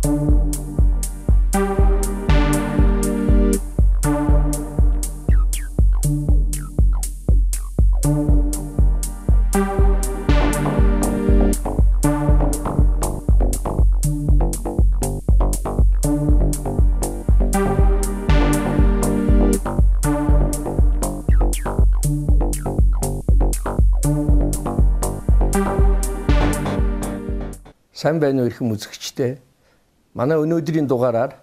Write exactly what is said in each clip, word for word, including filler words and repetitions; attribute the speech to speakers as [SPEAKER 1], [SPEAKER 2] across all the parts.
[SPEAKER 1] Сайн байна уу эрхэм үзэгчдээ. Манай өнөөдрийн дугаараар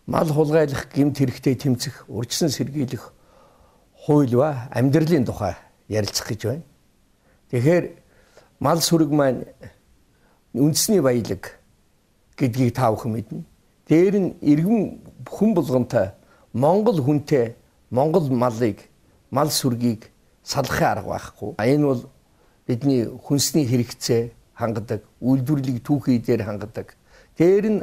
[SPEAKER 1] мал хулгайлах гэмт хэрэгтэд тэмцэх, урьдчилан сэргийлэх хууль ба амьдралын тухай ярилцах гэж байна. Тэгэхээр мал сүрэг маань үндэсний баялаг гэдгийг та бүхэн мэднэ. Дээр нь иргэн хүн болгонтой Монгол хүнтэй Монгол малыг, мал сүргийг салахын арга байхгүй. Энэ бол бидний хүнсний хэрэгцээ хангадаг, үйлдвэрлэлийг түүхий дээр хангадаг. Дээр нь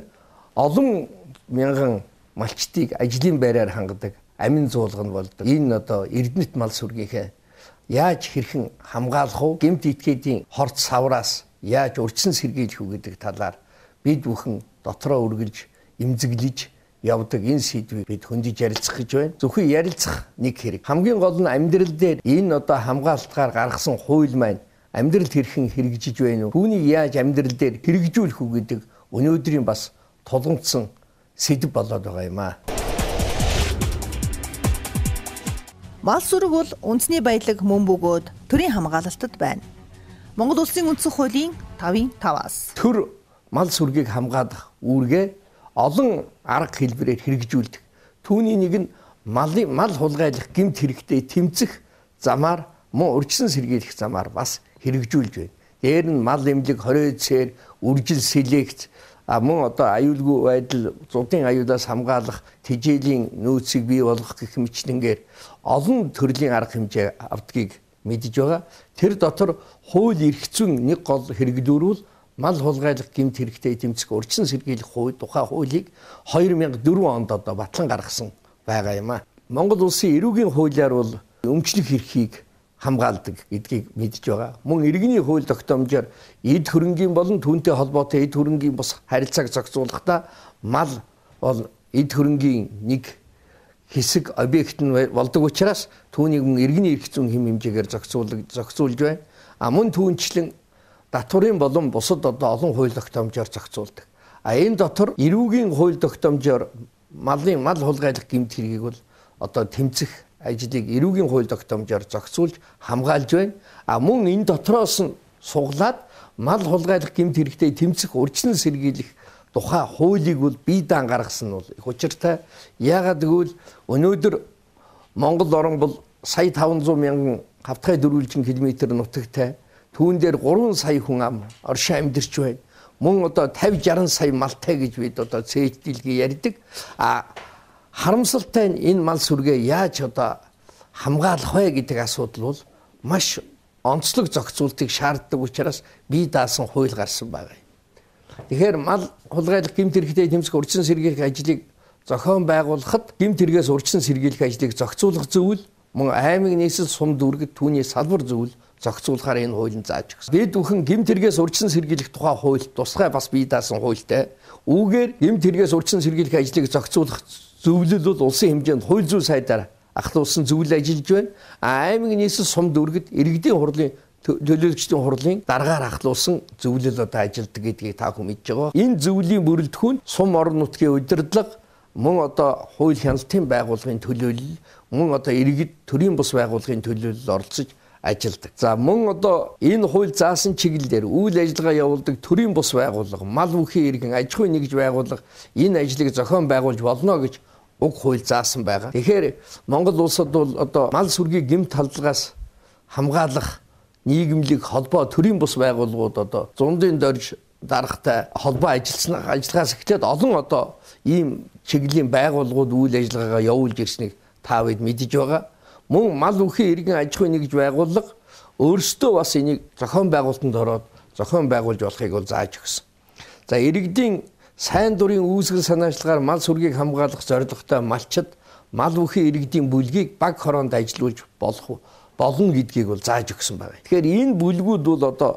[SPEAKER 1] олон мянган малчдыг ажлын байраар хангадаг, амин зуулган болдог. Энэ одоо Эрдэнэт мал сүргийнхээ яаж хэрхэн хамгаалах вэ? Гэмт этгээдийн хорт савраас яаж урьдчилан сэргийлэх үү гэдэг талаар бид бүхэн дотроо үргэлж эмзэглэж явдаг энэ сэдвийг бид хөндөж ярилцах гэж байна. Зөвхөн ярилцах нэг хэрэг. Хамгийн гол нь амьдрал дээр энэ одоо хамгаалтгаар гаргасан хууль маань амьдралд хэрхэн хэрэгжиж байна уу? Түүнийг яаж амьдрал дээр хэрэгжүүлэх үү гэдэг өнөөдрийн бас тулгамдсан сэдв болоод байгаа юм аа.
[SPEAKER 2] Мал сүрэг бол үндэсний баялаг мөн бөгөөд төрийн хамгаалалтад байна. Монгол Улсын үндсэн хуулийн тавын таваас
[SPEAKER 1] төр мал сүргийг хамгаалах үүргээ олон арга хэлбэрээр хэрэгжүүлдэг. Түүний нэг нь малын мал хулгайлах гэмт хэрэгтэд тэмцэх замаар мөн урьдчилан сэргийлэх замаар бас хэрэгжүүлж байна. Дээр нь мал эмнэлэг, хоройцээр, үржил селект, мөн одоо аюулгүй байдал, зуудын аюулаас хамгаалах, тэжээлийн нөөцийг бий болгох гэх мэтчнэнгээр олон төрлийн арга хэмжээ авдгийг мэдж байгаа. Тэр дотор хууль эрх зүйн нэг гол хэрэглүүрүүл мал хулгайлах гэмт хэрэгтэд тэмцэх урьдчилан сэргийлэх хууль, тухай хуулийг две thousand four онд одоо батлан гаргасан байгаа юм а. Монгол улсын эрүүгийн хуулиар бол өмчлөх эрхийг хамгаалдаг гэдгийг мэдж байгаа. Мөн иргэний хууль тогтоомжоор эд хөрөнгийн болон түүнтэй холбоотой эд хөрөнгийн бус харилцааг зохицуулахдаа мал бол эд хөрөнгийн нэг хэсэг объект нь болдог учраас түүнийг мөн иргэний эрх зүйн хэм хэмжээгээр зохицуулж зохицуулж байна. А мөн түүнчлэн татварын болон бусад одоо олон хууль тогтоомжоор зохицуулдаг. А энэ дотор эрүүгийн хууль тогтоомжоор малын мал хулгайлах гэмт хэргийг бол одоо тэмцэх ажлыг эрүүгийн хууль тогтоомжоор зохицуулж хамгаалж байна. А мөн энэ дотроос нь суглаад мал хулгайлах гэмт хэрэгтэд тэмцэх урьдчилан сэргийлэх тухай хуулийг бол бие даан гаргасан нь бол их учиртай. Яагаад гэвэл өнөөдөр Монгол орн бол сая таван зуун мянган хавтгай дөрвөлжин километр нутагтай. Түүн дээр гурван сая хүн ам оршин амьдарч байна. Мөн одоо пятьдесят шестьдесят сая малтай гэж бид одоо цээждэлгээ ярьдаг. А харамсалтай нь энэ мал сүргээ яаж одоо хамгаалах вэ гэдэг асуудал бол маш онцлог зохицуултыг шаарддаг учраас бие даасан хууль гарсан байгаа юм. Тэгэхээр мал хулгайлах гэмт хэрэгтэд тэмцэх урьдчилан сэргийлэх ажлыг зохион байгуулахад гэмт хэрэгээс урьдчилан сэргийлэх ажлыг зохицуулах зөвлөл мөн аймаг нийслэл сум дүүргэд түүний салбар зөвлөл зохицуулахаар энэ хуулийн зааж өгсөн. Бид бүхэн гэмт хэрэгээс урьдчилан сэргийлэх тухай хууль тусгай бас бие даасан хуультай. Үүгээр гэмт хэрэгээс урьдчилан сэргийлэх ажлыг зохицуулах зөвлөл бол улсын хэмжээнд хууль зүйн сайдаар ахлуулсан зөвлөл ажиллаж байна. Аймаг нийслэл сум дүүргэд иргэдийн хурлын төлөөлөгчдийн хурлын дараагаар ахлуулсан зөвлөл одоо ажилтдаг гэдгийг та бүхэн мэдж байгаа. Энэ зөвлөлийн бүрэлдэхүүн сум орон нутгийн удирдлага мөн одоо хууль хяналтын байгууллагын төлөөлөл мөн одоо иргэд төрийн бус байгууллагын төлөөлөл оролцож ажилдаг. За мөн одоо энэ хууль заасан чиглэлээр үйл ажиллагаа явуулдаг төрийн бус байгууллага, мал бүхий иргэн аж ахуйн нэгж байгууллага энэ ажлыг зохион байгуулж болно гэж уг хууль заасан байгаа. Тэгэхээр Монгол улсад бол одоо мал сүргийг гэмт халдлагаас хамгаалах нийгэмлэг холбоо төрийн бус байгууллагууд одоо зундын дорж дарахтай холбоо ажилласан ажиллагаас эхлээд олон одоо ийм чиглэлийн байгууллагууд үйл ажиллагаагаа явуулж ирснийг та бид мэдж байгаа. Мөн мал бүхий иргэн аж ахуйн нэгж байгууллага өөрсдөө бас энийг зохион байгуулалтанд ороод зохион байгуулж болохыг бол зааж өгсөн. За иргэдийн сайн дурын үүсгэл санаачлагаар мал сүргийг хамгаалах зорилготой малчид мал бүхий иргэдийн бүлгийг баг хороонд ажилуулж болох болно гэдгийг бол зааж өгсөн байна. Тэгэхээр энэ бүлгүүд бол одоо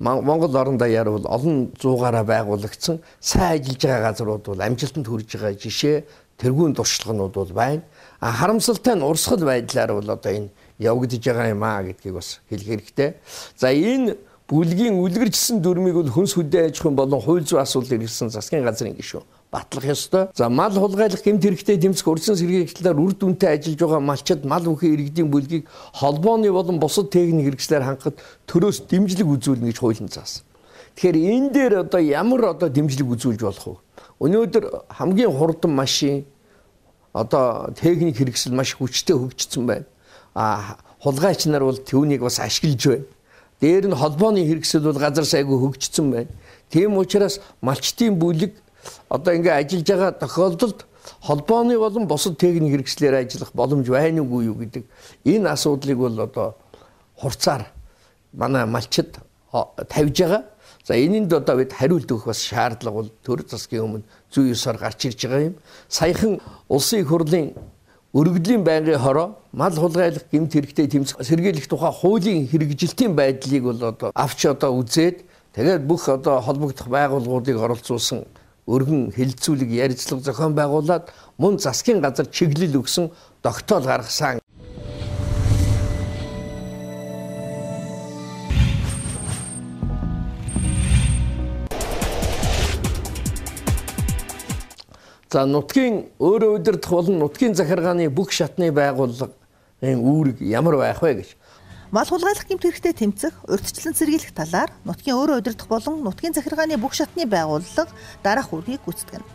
[SPEAKER 1] Монгол орон даяар бол олон зуугаараа байгуулагдсан сайн ажиллаж байгаа газрууд бол амжилтанд хүрэж байгаа жишээ тэргүүн туршлаганууд бол байна. А харамсалтай нь урсгал байдлаар бол одоо энэ явагдаж байгаа юм аа гэдгийг бас хэлэх хэрэгтэй. За энэ бүлгийн үлгэржсэн дүрмийг бол хүнс хүдэн аж ахуйн болон хууль зүйн асуудал ирсэн засгийн газрын гишүүн батлах ёстой. За мал хулгайлах гэмт хэрэгтэй тэмцэх урьдчилан сэргийлэлээр үр дүнтэй ажиллаж байгаа малчид мал бүхий иргэдийн бүлгийг холбооны болон бусад техник хэрэгслээр хангахад төрөөс дэмжлэг үзүүлнэ гэж хуулийн заасан. Тэгэхээр энэ дээр одоо ямар одоо дэмжлэг үзүүлж болох вэ? Өнөөдөр хамгийн хурдан машин одоо техник хэрэгсэл маш хүчтэй хөгжсөн байна. А хулгайч нар бол түүнийг бас ашиглаж байна. Дээр нь холбооны хэрэгсэл бол газар сайгүй хөгжсөн байна. Тийм учраас малчтын бүлэг одоо ингээ ажиллаж байгаа тохиолдолд холбооны болон бусад техник хэрэгслээр ажиллах боломж байна уугүй юу гэдэг энэ асуудлыг бол одоо хурцаар манай малчид тавьж байгаа. За энэнд одоо бид хариулт өгөх бас шаардлага бол төр засгийн өмнө зүйн ёсоор гарч ирж байгаа юм. Саяхан улсын их хурлын өргөдлийн байнгын хороо мал хулгайлах гэмт хэрэгтэй тэмцэх сэргийлэх тухай хуулийн хэрэгжилтийн байдлыг бол одоо авч одоо үзээд тэгээд бүх одоо холбогдох байгууллагуудыг оролцуулсан өргөн хэлэлцүүлэг ярилцлага зохион байгуулад мөн засгийн газар чиглэл өгсөн тогтоол гаргасан. За нутгийн өөрөө удирдах болон нутгийн захиргааны бүх шатны байгууллагын үүрэг ямар байх вэ гэж.
[SPEAKER 2] Мал хулгайлах гэмт хэрэгтэй тэмцэх, урьдчилан сэргийлэх талаар нутгийн өөрөө удирдах болон нутгийн захиргааны бүх шатны байгууллага дараах үүргийг гүйцэтгэнэ.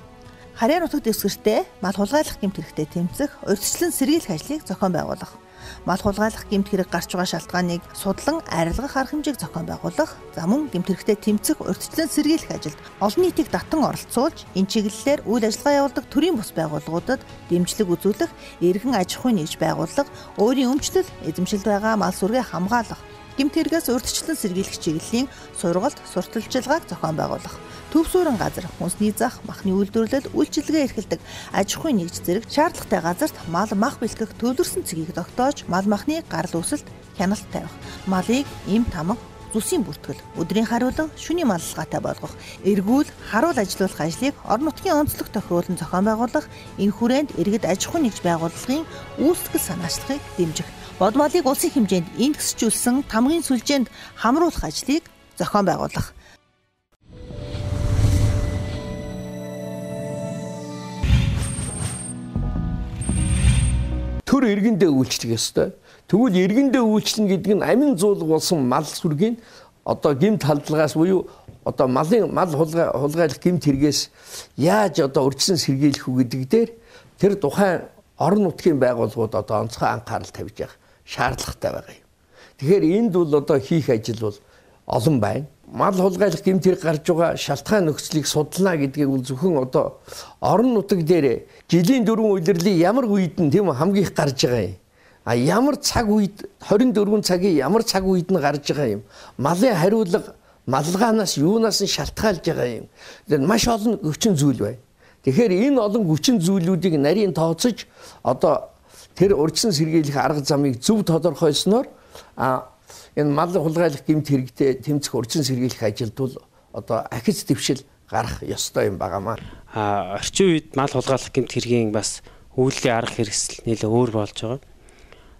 [SPEAKER 2] Харьяа нутаг дэвсгэртээ мал хулгайлах гэмт хэрэгтэй тэмцэх, урьдчилан сэргийлэх ажлыг зохион байгуулах. Мал хулгайлах гэмт хэрэг гарч байгаа шалтгааныг судлан арилгах арга хэмжээг зохион байгуулах, за мөн гэмт хэрэгтэй тэмцэх, урьдчилан сэргийлэх ажилд олон нийтийг татан оролцуулж, энэ чиглэлээр үйл ажиллагаа явуулдаг төрийн бус байгууллагуудад дэмжлэг үзүүлэх, эргэн аж ахуйн нэгж байгууллага, өөрийн өмчлөл, эзэмшилд байгаа мал сүргээ хамгаалах, гэмт хэрэгээс урьдчилан сэргийлэх чиглэлийн сургалт, сурталчилгааг зохион байгуулах. Төв суурин газар, хүнсний зах, махны үйлдвэрлэлд үйлчилгээ эрхэлдэг аж ахуйн нэгж зэрэг шаардлагатай газарт мал мах бэлтгэх төлөвлөсөн цэгийг тогтоож, мал махны гарал үүсэлд хяналт тавих, малыг эм тамга, зүсийн бүртгэл, өдрийн хариулан, шөнийн маллалгаатай болгох, эргүүл, харуул ажилуулах ажлыг орон нутгийн онцлог тохиолдолд зохион байгуулах, энэ хүрээнд иргэд аж ахуйн нэгж байгууллагын үүсгэл санаачлагыг дэмжих, бод малыг улсын хэмжээнд индексжүүлсэн тамгын сүлжээнд хамруулах ажлыг зохион байгуулах.
[SPEAKER 1] Төр иргэндээ үйлчлэх ёстой. Тэгвэл иргэндээ үйлчлэн гэдэг нь амин зуулга болсон мал сүргийн одоо гэмт халдлагаас буюу одоо малын мал хулгайлах гэмт хэрэгээс яаж одоо урьдчилан сэргийлэх үү гэдэг дээр тэр тухайн орон нутгийн байгууллагууд одоо онцгой анхаарал тавьж явах шаардлагатай байгаа юм. Тэгэхээр энд бол одоо хийх ажил бол олон байна. Мал хулгайлах гэмт хэрэг гарч байгаа шалтгаан нөхцөлийг судлаа гэдгийг бол зөвхөн одоо орон нутаг дээр жилийн дөрвөн улирлын ямар үед нь тийм хамгийн их гарч байгаа юм. А ямар цаг үед хорин дөрвөн цагийн ямар цаг үед нь гарч байгаа юм. Малын хариулга маллагаанаас юунаас нь шалтгаалж байгаа юм. Тэгэхээр маш олон хүчин зүйл байна. Тэгэхээр энэ олон хүчин зүйлүүдийг нарийн тооцож одоо тэр урьдчилан сэргийлэх арга замыг зөв тодорхойлсноор а энэ мал хулгайлах гэмт хэрэгтэй тэмцэх урьдчилан сэргийлэх ажилд бол одоо ахиц дэвшил гарах ёстой юм байгаамаа.
[SPEAKER 3] А орчин үед мал хулгайлах гэмт хэргийн бас үйлдлийн арга хэрэгсэл нэлээ өөр болж байгаа.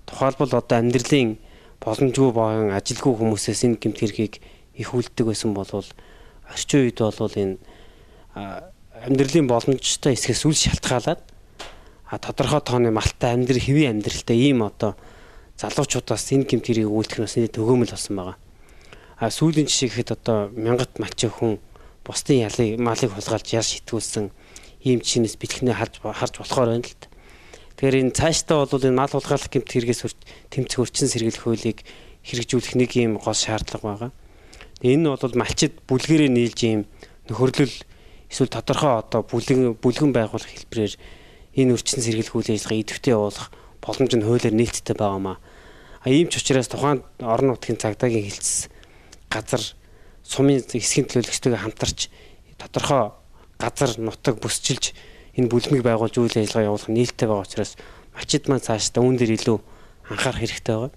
[SPEAKER 3] Тухайлбал одоо амьдралын боломжгүй болон ажилгүй хүмүүсээс энэ гэмт хэргийг их үлддэг байсан бол орчин үед бол энэ амьдралын боломжтой эсгээс үл шалтгаалаад а тодорхой тооны малтай амьдрал хэвийн амьдралтай ийм одоо залуучуудаас энэ гэмт хэргийг үйлдэх нь бас төгөөмөл болсон байгаа. А сүүлийн жишээ гэхэд одоо мянгат малчин хүн бусдын ялыг малыг хулгайлж яар шитгүүлсэн ийм жишээс бэлтгэнээ харж харж болохоор байна л та. Тэгэхээр энэ цаашдаа бол энэ мал хулгайлах гэмт хэрэгээс тэмцэх урьдчилан сэргийлэх хуулийг хэрэгжүүлэх нэг ийм гол шаардлага байгаа. Энэ нь бол малчид бүлгэрээ нийлж ийм нөхөрлөл эсвэл тодорхой одоо бүлгэн бүлгэн байгуулах хэлбэрээр энэ урьдчилан сэргийлэх үйл ажиллагаа идэвхтэй явуулах боломж нь хуулиар нийцтэй байгаамаа. А ийм ч учраас тухайн орон нутгийн цагдаагийн хэлтс газар сумын эсхийн төлөөлөгчтэйгээ хамтарч тодорхой газар нутаг бүсчилж энэ бүлмийг байгуулж үйл ажиллагаа явуулах нээлттэй байгаа учраас малчид маань цаашдаа үүн дээр илүү анхаарах хэрэгтэй байгаа.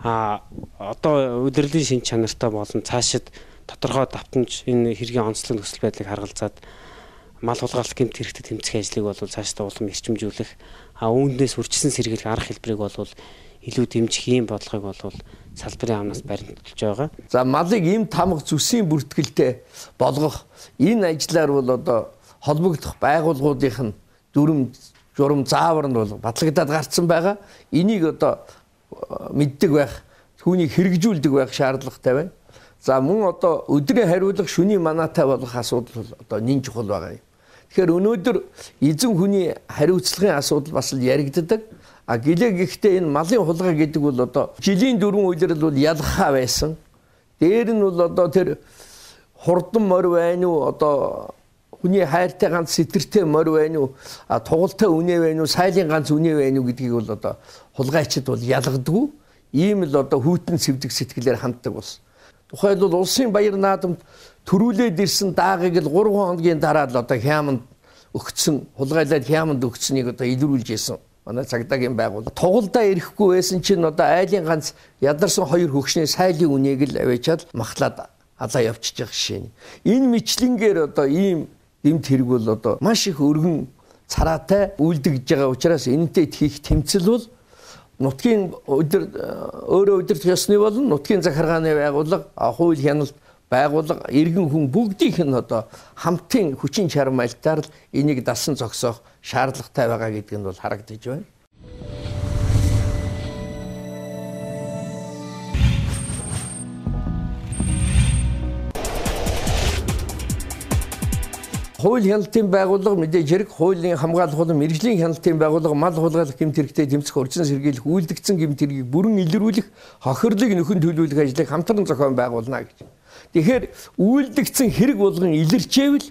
[SPEAKER 3] А одоо удирдлагын шин чанартай болон цаашид тодорхой давтамж энэ хэргийн онцлог нөхцөл байдлыг харгалзаад мал хулгайлах гэмт хэрэгтэй тэмцэх ажлыг бол цаашдаа улам эрчимжүүлэх, а үүнээс үржилсэн сэргийлэх арга хэлбэрийг бол илүү дэмжих ийм бодлогыг бол салбарын амнаас баримтуулж байгаа.
[SPEAKER 1] За малыг ийм тамга зүсийн бүртгэлтэй болгох энэ ажлаар бол одоо холбогдох байгууллагуудын дүрм журам заавар нь бол батлагдаад гарцсан байгаа. Энийг одоо мэддэг байх, түүнийг хэрэгжүүлдэг байх шаардлагатай байна. За мөн одоо өдрийн хариулга шөнийн манаатай болох асуудал бол одоо нэн чухал байгаа юм. Тэгэхээр өнөөдөр эзэн хүний хариуцлагын асуудал бас л яригддаг. А гэлээ гэхдээ энэ малын хулгай гэдэг бол одоо жилийн дөрвөн үйлрэл бол ялгахаа байсан. Дээр нь бол одоо тэр хурдан морь байна уу, одоо хүний хайртай ганц сэтэртэй морь байна уу, а тугалтай үнэ байна уу, сайлын ганц үнэ байна уу гэдгийг бол одоо хулгайчид бол ялгадаггүй. Ийм л одоо хүйтэн сэвдэг сэтгэлээр ханддаг болсон. Тухайлбал улсын баяр наадамд төрүүлээд ирсэн даагыг л гурван хоногийн дараа л одоо хяманд өгцсөн, хулгайлаад хяманд өгцсөнийг одоо илрүүлж ийсэн. Манай цагдаагийн байгууллага тугалдаа ирэхгүй байсан чинь одоо айлын ганц ядарсан хоёр хөгшний сайлын үнийг л авчиад махлаад алаа явчихж байгаа жишээ. Энэ мэтлэнгээр одоо ийм гэмт хэрэг бол одоо маш их өргөн цараатай үйлдэгж байгаа учраас энэтэй хийх тэмцэл бол нутгийн өдөр өөрөө удирдах ёсны болон нутгийн захиргааны байгууллага, хууль хяналт байгууллага, иргэн хүн бүгдийнх нь одоо хамтын хүчин чармайлтаар л энийг дасан зогсоох шаардлагатай байгаа гэдг нь бол харагдаж байна. Хууль хяналтын байгууллага мэдээж хэрэг хуулийн хамгаалах болон мэргэжлийн хяналтын байгууллага мал хулгайлах гэмт хэрэгтэй тэмцэх урьдчилан сэргийлэх үйлдэгдсэн гэмт хэргийг бүрэн илрүүлэх хохирлыг нөхөн төлөвлөх ажлыг хамтран зохион байгуулна гэж. Тэгэхээр үйлдэгдсэн хэрэг болгон илэрчээвэл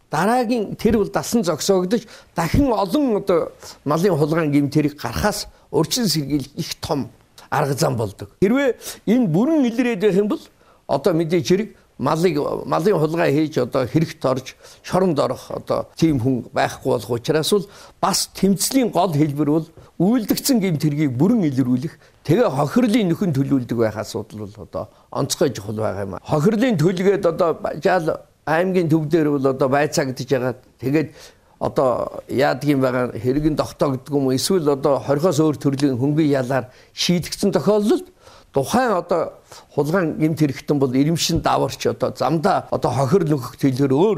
[SPEAKER 1] дараагийн тэр бол дасан зогсоогдож дахин олон одоо малын хулгайн гэмт хэрэг гарахаас урьдчилан сэргийлэх их том арга зам болдог. Хэрвээ энэ бүрэн илрээд байх юм бол одоо мэдээж хэрэг малыг малын хулгай хийж одоо хэрэгт орж шоронд орох одоо тийм хүн байхгүй болох учраас бол бас тэмцлийн гол хэлбэр бол үйлдэгдсэн гэмт хэргийг бүрэн илрүүлэх, тэгээ хохирлын нөхөн төлөвлөдөг байх асуудал бол одоо онцгой чухал байгаа юм. Хохирлын төлгээд одоо жаал аймгийн төв дээр бол одоо байцаагдж байгаа. Тэгээд одоо яадгийн байгаа хэрэгэн тогтоогддог юм, эсвэл одоо хорхоос өөр төрлийн хөнгөн ялаар шийдэгдсэн тохиолдолд тухайн одоо хулгайн гэмт хэрэгтэн бол ирэмшин даварч одоо замдаа одоо хохирол нөхөх төлөөр өөр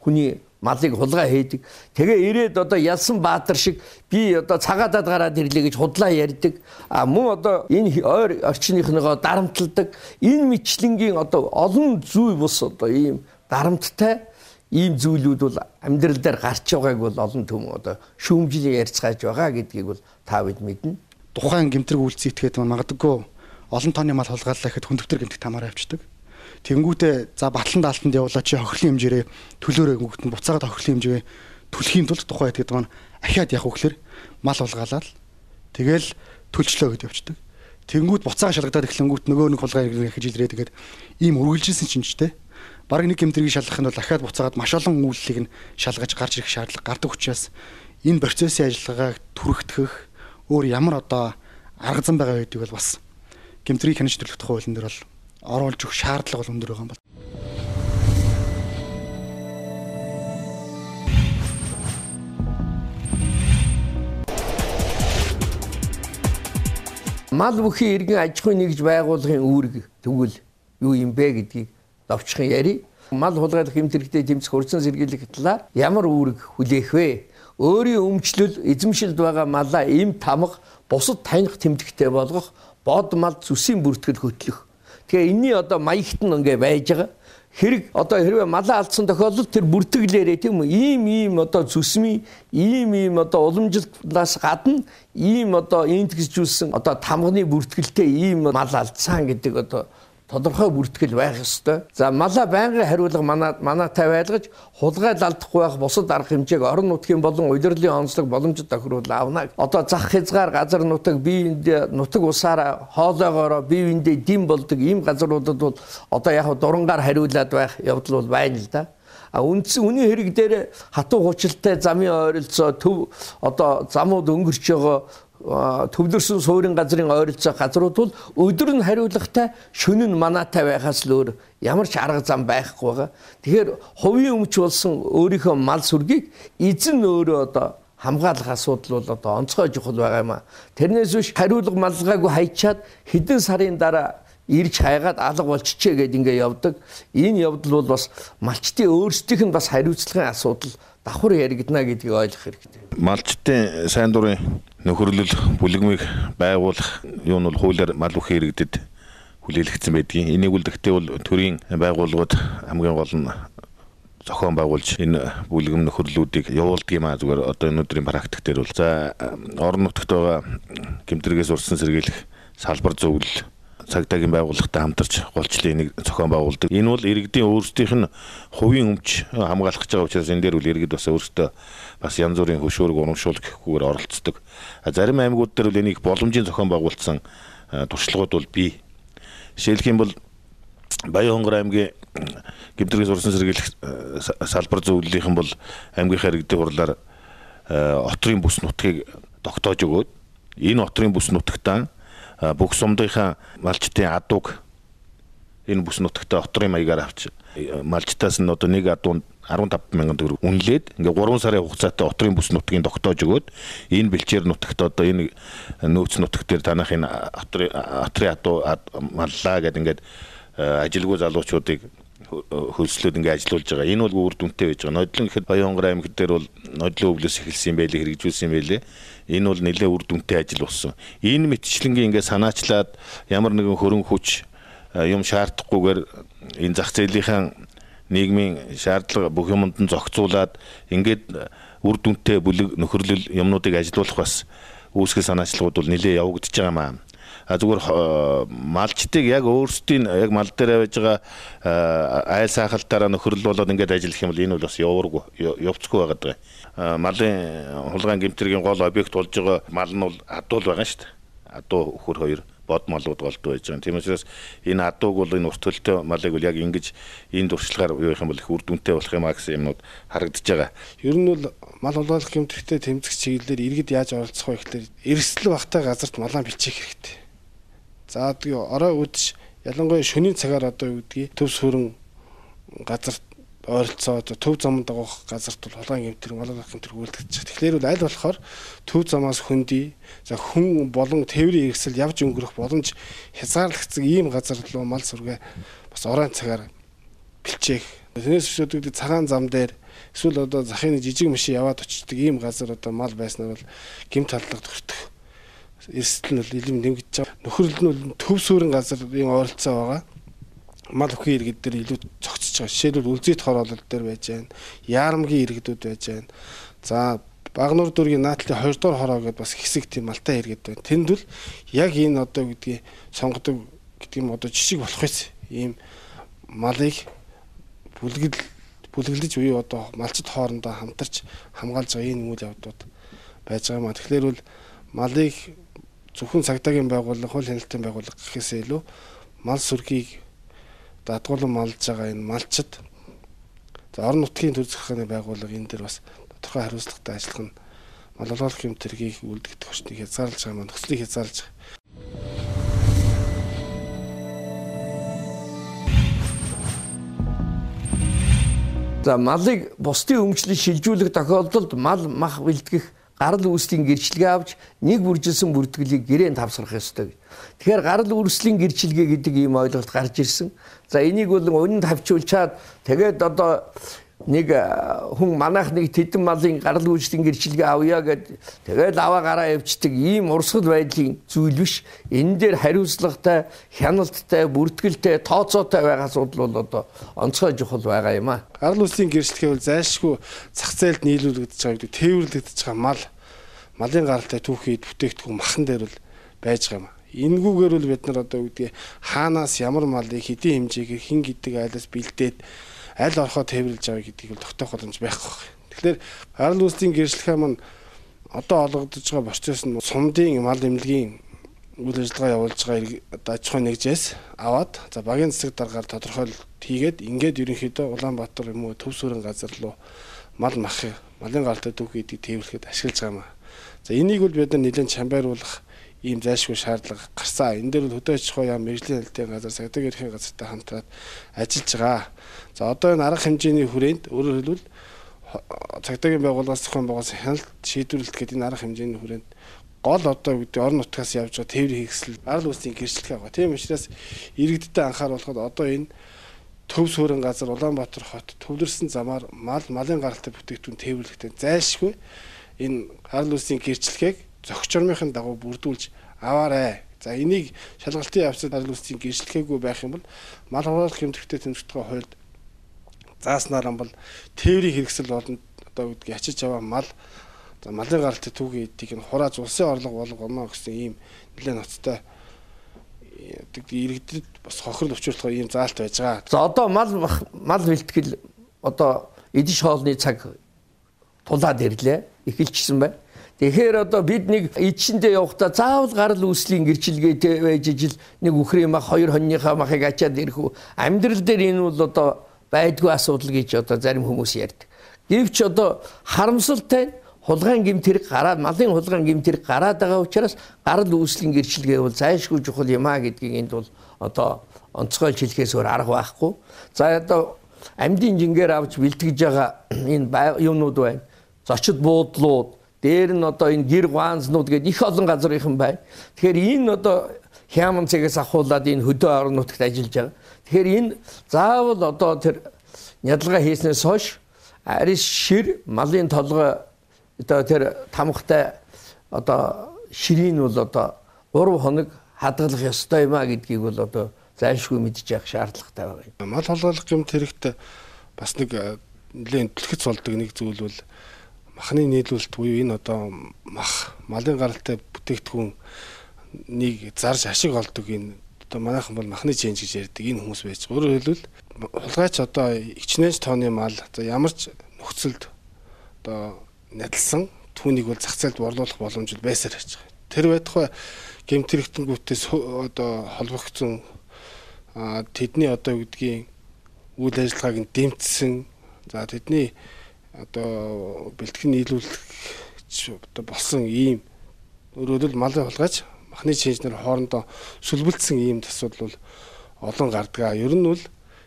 [SPEAKER 1] хүний малыг хулгай хийдэг. Тэгээ ирээд одоо ялсан баатар шиг би одоо цагаадад гараад ирлээ гэж худлаа ярьдаг. А мөн одоо энэ ойр орчныхныгоо дарамтладаг. Энэ мэтлэнгийн одоо олон зүй бус одоо ийм дарамттай ийм зүйлүүд бол амьдрал дээр гарч байгааг бол олон түмэн одоо шүүмжлэн ярьцгааж байгаа гэдгийг бол та бид мэднэ.
[SPEAKER 4] Тухайн гэмтрэг үйлдэл зүйтгэхэд магадгүй олон тооны мал хулгайлаа гэхэд хүндөвтөр гэмтэг тамаараа авчдаг. Тэнгүүтээ за батлан даалтанд явуулаад чи хохирлын хэмжээрээ төлөөрөө гүгтэн буцаагаад хохирлын хэмжээ түлхийн тулд тухайн хэд гэдэг маань ахиад явах вөхлөр мал хулгаалаад тэгэл төлчлөө гэд явцдаг. Тэнгүүд буцаага шалгадаад эхлэнгүүт нөгөө нэг хулгай хийж илрээ тэгээд ийм үргэлжилсэн чинжтэй. Бараг нэг гэмтрийг шалгах нь бол ахиад буцаагаад маш олон үйлчлэгийг нь шалгаж гарч ирэх шаардлага гардаг учраас энэ процессын ажиллагааг түрэгдэх өөр ямар одоо арга зам байгаа гэдгийг бол бас гэмтрийг хянаж төлөх тухай хуулийн дээр бол оруулж өгөх шаардлага бол өндөр байгаа юм байна.
[SPEAKER 1] Мал бүхий иргэн аж ахуйн нэгж байгууллагын үүрэг тэгвэл юу юм бэ гэдгийг давчхан яри. Мал хулгайлах гэмт хэрэгтэй тэмцэх урьдчилан сэргийлэх талаар ямар үүрэг хүлээх вэ? Өөрийн өмчлөл эзэмшилд байгаа малаа эм тамга бусад таних тэмдэгтэй болгох, бод мал зүсийн бүртгэл хөтлөх. Тэгэхээр энэний одоо маягт нь ингээ байж байгаа. Хэрэг одоо хэрвээ малаа алдсан тохиолдолд тэр бүртгэлээрээ тийм үү ийм ийм одоо зүсмийн ийм ийм одоо уламжилтнаас гадна ийм одоо интгсжүүлсэн одоо тамганы бүртгэлтэй ийм мал алдсан гэдэг одоо тодорхой бүртгэл байх ёстой. За малаа байнгын хариулга манай манайтай байлгаж хулгайлт алдахгүй байх бусад арга хэмжээг орон нутгийн болон удирдлын онцлог боломжит тохируулж авна. Одоо зах хязгаар газар нутаг биеиндээ нутаг усаараа хоолойгоороо биеиндээ дэм болдог ийм газруудад бол одоо яг дурангаар хариулаад байх явдал бол байна л да. А үнс үний хэрэг дээр хатуу хуучилтай замын ойролцоо төв одоо замууд өнгөрч байгаа төвлөрсөн суурин газрын ойролцоо газрууд бол өдөр нь хариулгатай, шөнө нь манаатай байхаас л өөр ямар ч арга зам байхгүй байгаа. Тэгэхээр хувийн өмч болсон өөрийнхөө мал сүргийг эзэн өөрөө одоо хамгаалах асуудал бол одоо онцгой чухал байгаа юм а. Тэрнээс биш хариулга малгаагүй хайчаад хэдэн сарын дараа ирж хайгаад алга болчихжээ гэдээ ингээ явдаг. Энэ явдал бол бас малчтын өөрсдийнх нь бас хариуцлагын асуудал давхар яригдана гэдгийг ойлгох хэрэгтэй.
[SPEAKER 5] Малчтын сайн дурын нөхөрлөл бүлэгмийг байгуулах юу нь бол хуулиар мал бүхий иргэдэд хүлээлгдсэн байдгийг. Энийг үлдэхдээ бол төрийн байгууллагууд хамгийн гол нь зохион байгуулж энэ бүлгэм нөхөрлүүдийг явуулдаг юм а. Зүгээр одоо энэ өдрийн практик дээр бол за орон нутагт байгаа гэмтрэгээс урьдчилан сэргийлэх салбар зөвлөл цагдаагийн байгууллагатай хамтарч голчлын нэг зохион байгуулдаг. Энэ бол иргэдийн өөрсдийнх нь хувийн өмч хамгаалах гэж байгаа учраас энэ дээр үл иргэд бас өөрсдөө бас янз бүрийн хөшөөрөг урамшуул гэхгүйгээр оролцдог. Зарим аймагуд дээр бол энийг боломжийн зохион байгуулсан туршлагууд бол бий. Жишээлх юм бол Баян Хонгор аймгийн гэмтрэгээс урьдчилан сэргийлэх салбар зөвлөлийнхэн бол аймгийнхаа иргэдийн хурлаар отрын бүс нутгийг тогтоож өгөөд энэ отрын бүс нутагтаа бүх сумдынхаа малчтын адууг энэ бүс нутагтаа отрын маягаар авч малчтаас нь одоо нэг адуунд арван таван мянган төгрөг үнэлээд ингээ гурван сарын хугацаатай отрын бүс нутгийг тогтоож өгөөд энэ бэлчээр нутагт одоо энэ нөөц нутаг дээр танах энэ отрын отрын адуу маллаа гэдэг ингээд ажилгүй залуучуудыг хөлслөөд ингээ ажиллаулж байгаа. Энэ бол үр дүнтэй байж байгаа. Нодлон гэхэд Баян Хонгор аймаг дээр бол нодлон өвлөөс эхэлсэн юм байлээ, хэрэгжүүлсэн юм байлээ. Энэ бол нэлээд үр дүнтэй ажил болсон. Энэ мэтчлэнгийн ингээ санаачлаад ямар нэгэн хөрөн хүч юм шаардахгүйгээр энэ зах зээлийнхаа нийгмийн шаардлага бүх юмд нь зохицуулаад ингээд үр дүнтэй бүлэг нөхөрлөл юмнуудыг ажиллуулах бас үүсгэл санаачлагууд бол нэлээд явагдаж байгаа юм аа. А зүгээр малчтыг яг өөрсдийн яг мал дээр байж байгаа айл сайхалтаараа нөхөрлөл болоод ингээд ажиллах юм бол энэ бол бас явуургүй явцгүй байгаад байгаа. Малын хулгайн гэмтрийн гол объект болж байгаа мал нь бол адуул байгаа шүү дээ. Адуу хөр хоёр бод малууд голдуу байж байгаа. Тийм учраас энэ адууг бол энэ урт төлтөө малыг бол яг ингэж энэ дуршлагаар юу их юм бол их үр дүнтэй болох юм а гэсэн юмнууд харагдаж байгаа.
[SPEAKER 6] Ер нь бол мал хулгайлах гэмтрэгтэй тэмцэх чиглэлээр иргэд яаж оролцох вэ гэхээр эрсдэл багтаа газарт малаа бичих хэрэгтэй. За тэгээ орой үдш ялангуяа шөнийн цагаар одоо юу гэдгийг төв сүрэн газарт ойролцоод төв замд дагах газарт бол хулгайн гэмтэр малгай гэмтэр үйлдэж байгаа. Тэгэхээр бол аль болохоор төв замаас хөндөй за хүн болон тээврийн хэрэгсэл явж өнгөрөх боломж хязгаарлагдсан ийм газар руу мал сүргээ бас оройн цагаар бэлчээх. Тэрнээс биш одоо цагаан зам дээр эсвэл одоо захын жижиг машин яваад очдог ийм газар одоо мал байснаар бол гэмт халдлага төртөх эрсдэл нь илүү нэмэгдэж байгаа. Нөхөрлөл нь төв сүрэн газрын ойролцоо байгаа. Мал бүхий иргэд дээр илүү зогцож байгаа. Жишээлбэл үлзийт хороолол дээр байж байна. Яарамгийн иргэдүүд байж байна. За Багнуур дүүргийн наатлын хоёр дахь хороо гэдээ бас хэсэг тийм малтай иргэд байна. Тэнд бол яг энэ одоо гэдгийг сонгодог гэдэг юм одоо жишг болох юм. Ийм малыг бүлгэл бүлгэлж буюу одоо малчд хоорондоо хамтарч хамгаалж байгаа энэ үйл явдлууд байж байгаа юм. Тэгэхээр бол малыг зөвхөн цагдаагийн байгууллага, хууль хяналтын байгууллага гэхээсээ илүү мал сүргийг дадгуулан малж байгаа энэ малчд за орон нутгийн төр захиргааны байгууллага энэ дээр бас тодорхой хариуцлагатай ажиллах нь мал хулгайлах гэмтрийг үлдэгдэх хүчнийг хязгаарлаж байгаа маань нөхцөлийг хязгаарлаж байгаа.
[SPEAKER 1] За малыг бусдын өмчлөж шилжүүлэх тохиолдолд мал мах бэлтгэх гарал үүслийн гэрчлэгээ авч нэг бүржилсэн бүртгэлийг гэрээнд тавсрах ёстой. Тэгэхээр гарал үүслийн гэрчлэгээ гэдэг ийм ойлголт гарч ирсэн. За энийг бол үнэнд тавьчулчаад тэгээд одоо нэг хүн манайх нэг тэдэн малын гарал үүслийн гэрчлэгээ авъя гэд тэгээд аваа гараа явьчдаг ийм урсгал байдлын зүйл биш. Энэ дээр хариуцлагатай, хяналттай, бүртгэлтэй, тооцоотой байгаа асуудал бол одоо онцгой чухал байгаа юм а.
[SPEAKER 6] Гарал үүслийн гэрчлэгээ бол зайлшгүй зах зээлд нийлүүлэгдэж байгаа гэдэг тээвэрлэгдэж байгаа мал малын гаралтай түүхийд бүтээгдэхүүн махан дээр бол байж байгаа юм. Энгүүгээр бол бид нар одоо үгдээ хаанаас ямар малыг хэдийн хэмжээгээр хин гэдэг айлаас бэлдээд аль орхоо тээвэрлж авъя гэдгийг бол тогтоох боломж байхгүй. Тэгэхээр гарал үүслийн гэрчлэгээ маань одоо олгогдож байгаа процесс нь сумдын мал эмнэлгийн үйл ажиллагаа явуулж байгаа одоо аж ахуйн нэгжээс аваад за багийн засаг даргаар тодорхойлолт хийгээд ингээд ерөнхийдөө Улаанбаатар юм уу төв сүрэн газар руу мал мах малын гаралтай түүх гэдгийг тээвэрлэхэд ашиглаж байгаа юм. За энийг бол бид нэлээд чамбайруулах ийм зайлшгүй шаардлага гарсан. Энэ дээр бол хөдөө аж ахуй яам мэргэжлийн хэлтийн газар, цагдаагийн ерхийн газартай хамтраад ажиллаж байгаа. За одоо энэ арга хэмжээний хүрээнд өөрөөр хэлбэл цагдаагийн байгууллагаас зохион байгуулсан хяналт шийдвэрлэлт гэдэг энэ арга хэмжээний хүрээнд гол одоо гэдэг орон нутгаас явж байгаа тээврийн хэрэгсэл арал үүслийн гэрчлэх байгаа. Тийм учраас иргэдтэй анхааруулахад одоо энэ төв суурин газар Улаанбаатар хот төвлөрсөн замаар мал малын гаралтай бүтээгдэхүүн тээвэрлэхдээ зайлшгүй энэ арал үүслийн гэрчлэгийг зохиц журмынхын дагуу бүрдүүлж аваарай. За энийг шалгалтын явцад арал үүслийн гэрчлэгээгүй байх юм бол мал хаваалах хэмжээтэй тэмцэгдэх хуульд зааснаар бол тээврийн хэрэгсэл болон одоо гэдгийг ачиж аваа мал малын гаралтай түүхий эдийг нь хурааж улсын орлого болгоно гэсэн ийм нэлээд ноцтой иргэдэд бас хохирол учруулах ийм заалт байж байгаа.
[SPEAKER 1] За одоо мал мал бэлтгэл одоо эдиш хоолны цаг тулаад ирлээ. Эхэлчихсэн байна. Тэгэхээр одоо бид нэг эдшиндээ явахдаа заавал гарал үүслийн гэрчилгээтэй байж ижил нэг үхрийн мах хоёр хоньныхаа махыг ачаад ирэх үү. Амьдрал дээр энэ бол одоо байдгүй асуудал гэж одоо зарим хүмүүс ярьдаг. Гэвч одоо харамсалтай хулгайн гэмтэрэг гараад малын хулгайн гэмтэрэг гараад байгаа учраас гарал үүслийн гэрчилгээ бол зайлшгүй чухал юм а гэдгийг энд бол одоо онцгойлж хэлэхээс өөр арга байхгүй. За одоо амьдын жингээр авч бэлтгэж байгаа энэ юмнууд байна. Зочид буудлууд, дээр нь одоо энэ гэр гуанзнууд гэдэг их олон газрынхан байна. Тэгэхээр энэ одоо хяман цэгээс ахуулаад энэ хөдөө орон нутагт ажиллаж байгаа. Тэгэхээр энэ заавал одоо тэр нядалгаа хийснээс хойш арис шир малын толгой одоо тэр тамхтай одоо ширийн бол одоо гурав хоног хадгалах ёстой юм а гэдгийг бол одоо зайлшгүй мэдж явах шаардлагатай байгаа.
[SPEAKER 6] Мал хулгайлах гэмт хэрэгт бас нэг нэлээд түлхэц болдог нэг зүйл бол махны нийлүүлэлт буюу энэ одоо мах малын гаралтай бүтээгдэхүүн нэг зарж ашиг олдог энэ одоо манайхан бол махны ченж гэж ярьдаг энэ хүмүүс байж. Өөрөөр хэлбэл хулгайч одоо ичнэж тооны мал одоо ямар ч нөхцөлд одоо надалсан түүнийг бол зах зээлд борлуулах боломж байсаар байж байгаа. Тэр байтугай гэмт хэрэгтэнгүүтээс одоо холбогдсон тэдний одоо гэдгийг үйл ажиллагааг нь дэмжсэн. За тэдний одоо бэлтгэн нийлүүлэх одоо болсон ийм өөрөөр хэлбэл малын хулгайч махны ченжнэр хоорондоо сүлбэлдсэн ийм асуудал бол олон гардаг. Ер нь бол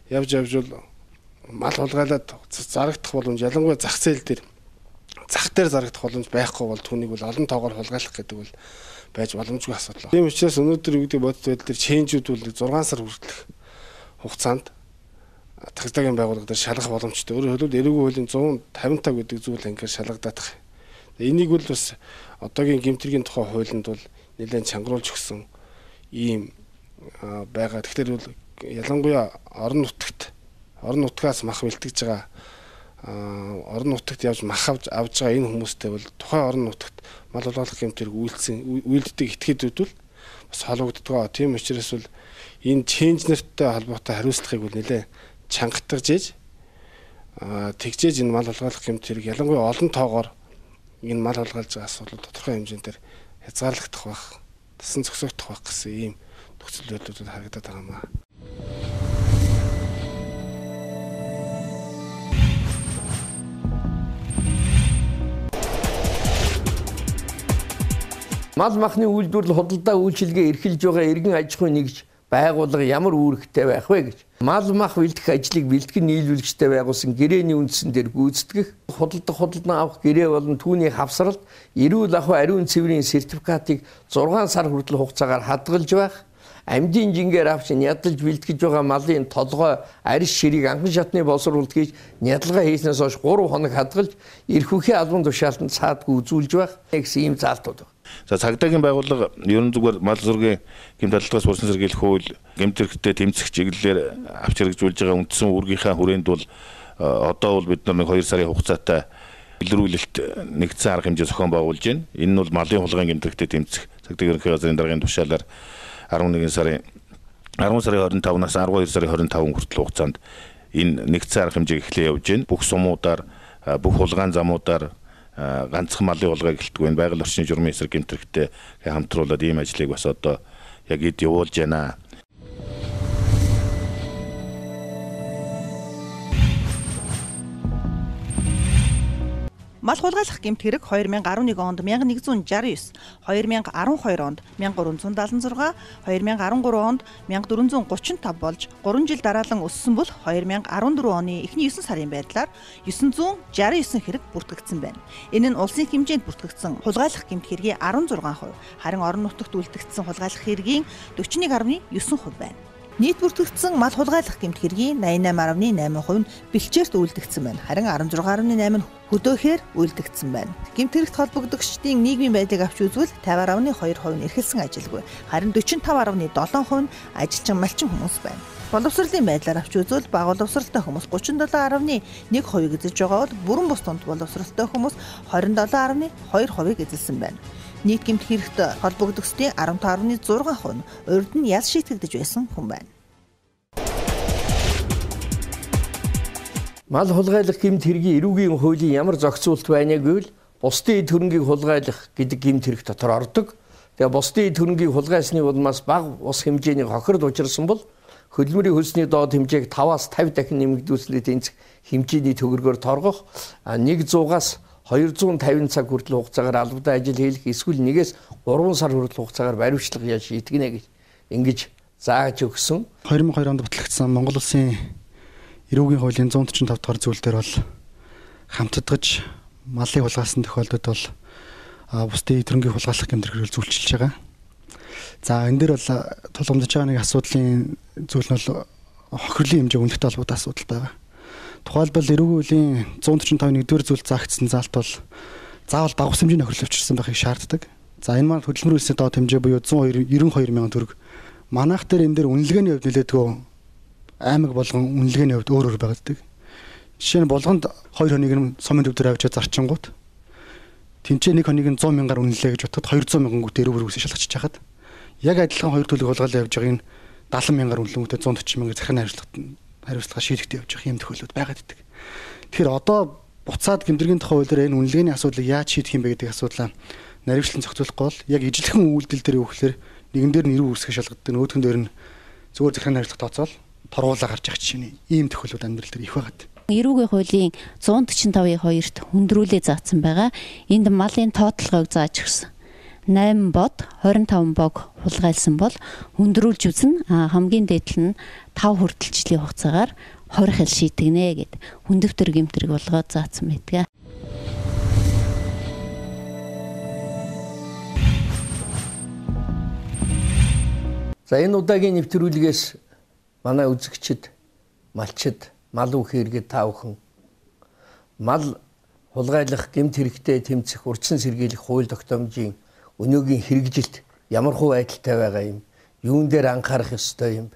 [SPEAKER 6] явж явж бол мал хулгайлаад зарагдах боломж ялангуяа зах зээл дээр зах дээр зарагдах боломж байхгүй бол түүнийг бол олон тоогоор хулгайлах гэдэг бол байж боломжгүй асуудал. Тийм учраас өнөөдөр юу гэдэг бодит байдал дээр ченжүүд бол зургаан сар хүртэлх хугацаанд цагдаагийн байгууллага дээр шалгах боломжтой. Өөрөөр хэлбэл эрүүгийн хуулийн зуун тавин тав гэдэг зүйл ангиар шалгагдаад байгаа. Энийг бол бас одоогийн гэмтэргийн тухай хуулинд бол нэлээд чангаруулж өгсөн ийм байгаа. Тэгэхээр бол ялангуяа орон нутагт орон нутгаас мах бэлтгэж байгаа орон нутагт явж мах авч авж байгаа энэ хүмүүстэй бол тухайн орон нутагт мал хулгайлах гэмтэрэг үйлдсэн үйлддэг этгээдүүд бол бас холбогддог. Тийм учраас бол энэ ченж нэртэй холбоотой хариуцлагыг бол нэлээд чангатгаж ийж тэгжээж энэ мал хулгайлах гэмтэрэг ялангуяа олон тоогоор энэ мал хулгайлж байгаа асуудал тодорхой хэмжээгээр хязгаарлагдах байх, тасан зогсоогдох байх гэсэн ийм нөхцөл байдлууд харагдаад байгаа юм аа.
[SPEAKER 1] Мал махны үйлдвэрлэл худалдаа үйлчилгээ эрхэлж байгаа иргэн аж ахуйн нэгж байгууллага ямар үүрэгтэй байх вэ гэж. Мал мах бэлтгэх ажлыг бэлтгэн нийлүүлэгчтэй байгуулсан гэрээний үндсэн дээр гүйцэтгэх, худалдах худалдан авах гэрээ болон түүний хавсралт эрүүл ахуй ариун цэврийн сертификатыг зургаан сар хүртэл хугацаагаар хадгалж байх, амьдын жингээр авч ядалж бэлтгэж байгаа малын толгой арис ширийг анхан шатны боловсруулалт хийж ядалгаа хийснээс хойш гурав хоног хадгалж эрх үхийн албан тушаалтанд саадгүй үзүүлж байх гэсэн ийм заалтууд байна.
[SPEAKER 5] За цагдаагийн байгууллага ерөн зүгээр мал зургийн гэмт алдлагаас урьдчилан сэргийлэх хууль гэмт хэрэгтээ тэмцэх чиглэлээр авч хэрэгжүүлж байгаа үндсэн үүргийнхаа хүрээнд бол одоо бол бид нар нэг хоёр сарын хугацаатай илрүүлэлт нэгдсэн арга хэмжээ зохион байгуулж байна. Энэ нь бол малын хулгайн гэмт хэрэгтээ тэмцэх цагдаагийн ерөнхий газрын даргын тушаалаар арван нэгэн сарын арван сарын хорин тавнаас арван хоёр сарын хорин таван хүртэл хугацаанд энэ нэгдсэн арга хэмжээг эхлээ явж байна. Бүх сумуудаар, бүх хулгайн замуудаар ганцхан малын хулгай гэлтгүй энэ байгаль орчны журмын эсрэг гэмт хэрэгтээ хамтруулаад ийм ажлыг бас одоо яг эд явуулж байна.
[SPEAKER 2] Мал хулгайлах гэмт хэрэг two thousand eleven онд one thousand one hundred sixty-nine, two thousand twelve онд one thousand three hundred seventy-six, two thousand thirteen онд one thousand four hundred thirty-five болж three жил дараалан өссөн бол two thousand fourteen оны эхний nine сарын байдлаар nine hundred sixty-nine хэрэг бүртгэгдсэн байна. Энэ нь улсын хэмжээнд бүртгэгдсэн хулгайлах гэмт хэргийн sixteen percent, харин орон нутагт үлдэгдсэн хулгайлах хэргийн forty-one point nine percent байна. Нийт бүртгэгдсэн мал хулгайлах гэмт хэргийн eighty-eight point eight percent нь бэлчээрт үйлдэгдсэн байна. Харин sixteen point eight percent нь хөдөөхээр үйлдэгдсэн байна. Гэмт хэрэгт холбогдогчдын нийгмийн байдлыг авч үзвэл fifty point two percent нь эрхэлсэн ажилгүй. Харин forty-five point seven percent нь ажилчин малчин хүмүүс байна. Боловсролын байдлаар авч үзвэл бага боловсролтой хүмүүс thirty-seven point one percent эзэлж байгаа бол бүрэн бус тунд боловсролтой хүмүүс twenty-seven point two percent эзэлсэн байна. Нийт гэмт хэрэгт холбогдогчдын fifteen point six percent нь урд нь ял шийтгэгдэж байсан хүн байна.
[SPEAKER 1] Мал хулгайлах гэмт хэргийн эрүүгийн хуулийн ямар зохицуулт байна гэвэл бусдын эд хөрөнгийг хулгайлах гэдэг гэмт хэрэг дотор ордог. Тэгээ бусдын эд хөрөнгийг хулгайсны улмаас бага ус хэмжээний хохирд учирсан бол хөдөлмөрийн хөлсний доод хэмжээг five-аас fifty дахин нэмэгдүүлснээр тэнцэх хэмжээний төгрөгөөр торгох, one hundred-аас two hundred fifty цаг хүртэл хугацаагаар албатай ажил хийх, эсвэл one-ээс three сар хүртэл хугацаагаар баримтлах яа шийтгэнэ гэж ингэж зааж өгсөн.
[SPEAKER 4] two thousand two онд батлагдсан Монгол улсын эрүүгийн хуулийн one forty-five дахь зүйл дээр бол хамтдагж малыг хулгайлсан тохиолдолд бол бусдын эд хөрөнгийг хулгайлах гэмт хэрэг зүйлчилж байгаа. За энэ дээр бол тулгамдж байгаа нэг асуудлын зүйл нь бол хохирлын хэмжээ үнэлттэй холбоотой асуудал байгаа. Тухайлбал эрүүгийн хуулийн one forty-five нэгдүгээр зүйл заагдсан заалт бол заавал бага ус хэмжээний хохирол авчирсан байхыг шаарддаг. За энэ маань хөдөлмөрийн хөлсний доод хэмжээ буюу one ninety-two сая төгрөг. Манайх дээр энэ дээр үнэлгээний хувьд нэлээдгүй аймаг болгон үнэлгээний хувьд өөр өөр байдаг. Жишээ нь болгонд two хоног нь сумын төв дээр авчиж зарчингууд тэнцээ нэг хоног нь one hundred мянгаар үнэлээ гэж бодоход two hundred мянган гүт эрүүг үсэж шалгачиж хахад яг адилхан хоёр төлөв хулгайлан явж байгааг нь seventy мянгаар үнэлэнгүүтээ one forty мянгаар захиргааны хариуцлага хариуцлага шийдэгдэж явж байгаа юм тохиолдлууд байгаад идэг. Тэгэхээр одоо буцаад гэмтэргийн тухай хуулиар энэ үнэлгээний асуудлыг яаж шийдэх юм бэ гэдэг асуудлаа наривчлан зохицуулахгүй бол яг ижилхэн үйлдэл дээр өгөхлөөр нэгэн дээр нь эрүү үсгэж шалгаддаг, нөгөөх нь дээр нь зөвхөн захиргааны хариуцлага тооцоол торгуулаа гарч явах жишээ нь ийм тохиолдлууд амьдрал дээр их байгаад.
[SPEAKER 7] Эрүүгийн хуулийн one forty-five two-т хүндрүүлээ заасан байгаа. Энд малын тоотлогыг зааж өгсөн. eight бод twenty-five бог хулгайлсан бол хүндрүүлж үзэн хамгийн дээдл нь five хүртэл жилийн хугацаагаар twenty хил шийтгэнэ гэд хүндэвтэр гэмтрэг болгоод заасан байдаг.
[SPEAKER 1] За энэ удаагийн нэвтрүүлгээс манай үзэгчид, малчид, мал үхээргээд та бүхэн мал хулгайлах гэмт хэрэгтэй тэмцэх урьдчилан сэргийлэх хууль тогтоомжийн өнөөгийн хэрэгжилт ямар хуу байдалтай байгаа юм, юун дээр анхаарах ёстой юм.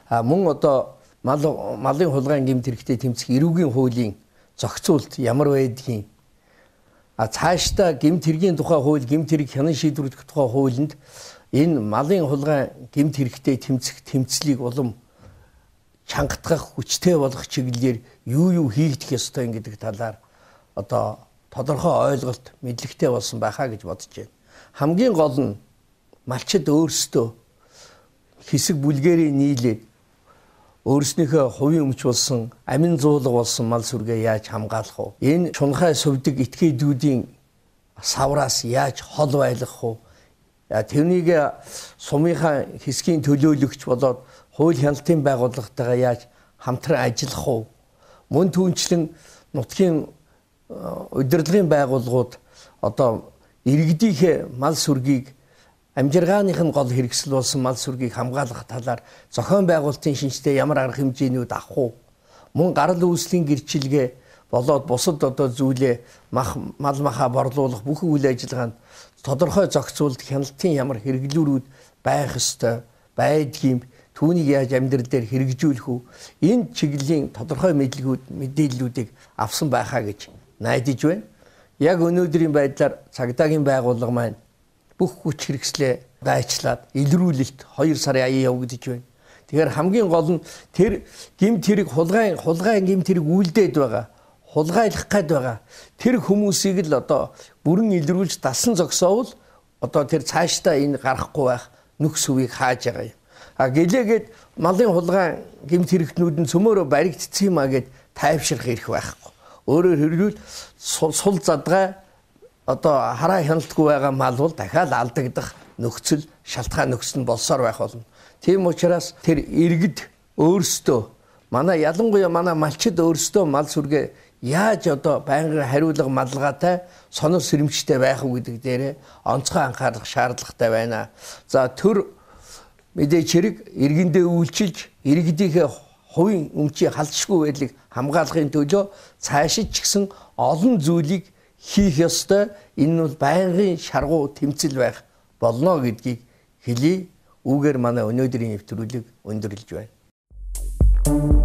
[SPEAKER 1] А мөн одоо мал малын хулгайн гэмт хэрэгтэй тэмцэх эрүүгийн хуулийн зохицуулт ямар байдгийг, а цаашдаа гэмт хэргийн тухай хууль, гэмт хэрэг хянан шийдвэрлэх тухай хуулинд энэ малын хулгайн гэмт хэрэгтэй тэмцэх тэмцлийг улам чангатгах, хүчтэй болгох чиглэлээр юу юу хийгдэх ёстой гэдэг талаар одоо тодорхой ойлголт, мэдлэгтэй болсон байхаа гэж бодож байна. Хамгийн гол нь малчид өөрсдөө хэсэг бүлгэрийн нийлээд өөрснийхөө хувийн өмч болсон, амин зуулга болсон мал сүргээ яаж хамгаалах вэ? Энэ чунхай сувдаг этгээдүүдийн савраас яаж хол байлгах вэ? Тэрнийг сумынхаа хэсгийн төлөөлөгч болоод хууль хяналтын байгууллагатайгаа яаж хамтран ажиллах вэ? Мөн түүнчлэн нутгийн удирдлагын байгууллагууд одоо иргэдийнхээ мал сүргийг, амжиргааных нь гол хэрэгсэл болсон мал сүргийг хамгаалах талаар зохион байгуулалтын шинжтэй ямар арга хэмжээнүүд авах вэ? Мөн гарал үүслийн гэрчилгээ болоод бусад одоо зүйлээ мал махаа борлуулах бүх үйл ажиллагаанд тодорхой зохицуулт, хяналтын ямар хэрэглүүрүүд байх ёстой байдгийг, түүнийг яаж амьдрал дээр хэрэгжүүлэх үү? Энэ чиглэлийн тодорхой мэдлэгүүд, мэдээллүүдийг авсан байхаа гэж найдаж байна. Яг өнөөдрийн байдлаар цагдаагийн байгууллага маань бүх хүч хэрэгслээ гайчлаад илрүүлэлт two сарын аяа явагдаж байна. Тэгэхээр хамгийн гол нь тэр гэмт хэрэг хулгайн хулгайн гэмт хэрэг үйлдээд байгаа, хулгайлах гээд байгаа тэр хүмүүсийг л одоо бүрэн илрүүлж дасан зогсоовол одоо тэр цаашдаа энэ гарахгүй байх нөхс үеийг хааж байгаа юм. А гэлээгээд малын хулгайн гэмт хэрэгтнүүд нь цөмөөрөө баригдсан юм а гэд тайвшрах эрх байхгүй. Өөрөөр хэлбэл сул задгай одоо хараа хяналтгүй байгаа мал бол дахиад алдагдах нөхцөл шалтгаан нөхцөл нь болсоор байх болно. Тийм учраас тэр иргэд өөрсдөө манай ялангуяа манай малчид өөрсдөө мал сүргээ яаж одоо байнгын хариулга малгайтай сонор сэрэмжтэй байх уу гэдэг дээрээ онцгой анхаарах шаардлагатай байна. За төр мэдээч хэрэг иргэндээ үйлчилж иргэдийнхээ хувийн өмчийн халдшгүй байдлыг хамгаалахын төлөө цаашид ч гэсэн олон зүйлийг хийх ёстой. Энэ нь бол байнгын шаргуу тэмцэл байх болно гэдгийг хэлье. Үүгээр манай өнөөдрийн нэвтрүүлэг өндөрлөж байна.